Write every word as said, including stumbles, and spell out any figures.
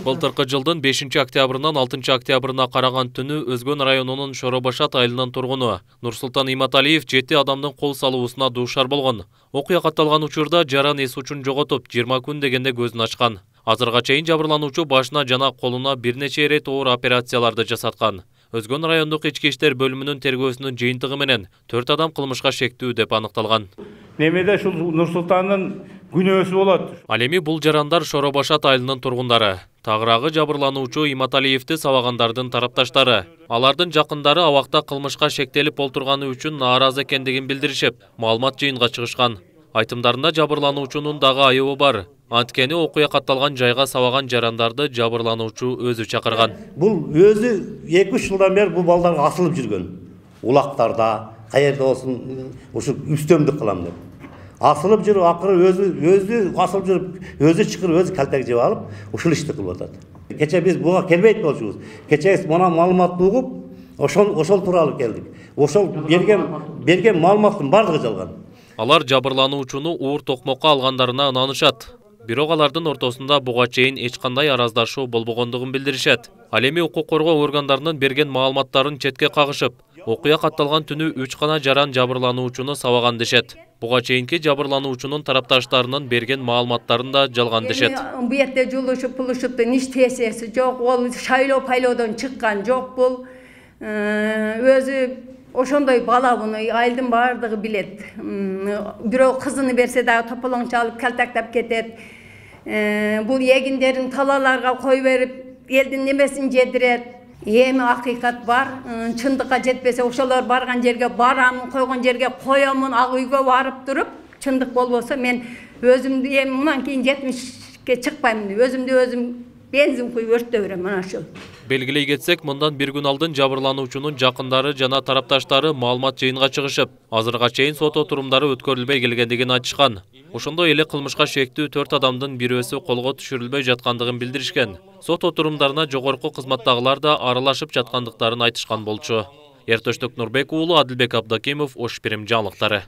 Былтыркы жылдын бешинчи октябрынан алтынчы октябрына караган түнү Өзгөн районунун Шоробашат айылынын тургуну Нурсултан Иматалиев жети адамдын кол салуусуна дуушар болгон. Окуя катталган учурда жаран эс учун жоготуп, жыйырма күн дегенде көзүн ачкан. Азырга чейин жабырлануучу башына жана колуна бир нече ирет оор операцияларды жасаткан. Өзгөн райондук ички иштер бөлүмүнүн тергөөсүнүн жыйынтыгы менен төрт адам кылмышка шектүү деп аныкталган. Немеде ушул Нурсултандын күнөөсү болот. Ал эми бул жарандар Шоробашат айылынын тургундары. Тагыраагы жабырлануучу Иматалиевди сабагандардын тарапташтары. Алардын жакындары абакта кылмышка шектелип олтурганы үчүн нааразы экендигин билдиришип, маалымат жыйынга чыгышкан. Айтымдарында жабырлануучунун дагы айыбы бар. Анткени окуя катталган жайга сабаган жарандарды жабырлануучу өзү чакырган. Бул өзү эки үч жылдан бери бул балдарга асылып жүргөн. Улактарда, каерде болсун, ушу үстөмдүк кылам деп. Асылып жүрүп, акыры өзү өзү асылып жүрүп, өзү чыкырып, өзү калтак жеп алып, ушул ишти кылып атат. Кече биз буга келбейт болчубуз. Кече мына маалыматты угуп, ошол ошол тууралуу келдик. Ошол берген берген маалыматтын бардыгы жалган. Алар жабырлануучуну уур токмокко алгандарына ынанышат. Бирок алардын ортосунда буга чейин эч кандай араздашуу болбогондугун билдиришет. Ал эми укук коргоо органдарынын берген маалыматтарын четке кагышып, окуя катталган түнү үч гана жаран жабырлануучуну сабаган дешет. Буга чейинки жабырлануучунун тарапташтарынын берген маалыматтарын да жалган дешет. Бу жерде жулушуп, пулушупту иш тесеси жок, ол шайлоо пайлоодон чыккан жок бул. Өзү ошондой бала буну айылдын бардыгы билет. Бирок кызыны берсе дагы тополоң чалып калтактап кетет. Бул эгиндерин талаларга кой берип, элдин немесин жедирет. Эми акыйкат бар, чындыкка жетпесе ошолор барган жерге барам, койгон жерге коёмун, ак үйгө барып туруп, чындык болбосо мен өзүмдү эми мындан кийин жетимишке чыкпайм, өзүмдү өзүм бензин куюп өрттөп берем мына ушул. Белгилей кетсек, мындан бир күн алдын жабырлануучунун жакындары жана тарапташтары маалымат жыйынга чыгышып, азырга чейин сот отурумдары өткөрүлбөй келгендигин айтышкан. Ошондой эле кылмышка шектүү төрт адамдын бирөөсү колго түшүрүлбөй жаткандыгын билдиришкен. Сот отурумдарына жогорку кызматтагылар да аралашып жаткандыктарын айтышкан болчу. Эртөштүк Нурбек уулу, Адилбек Абдакимов, Ош Бирим жаңылыктары.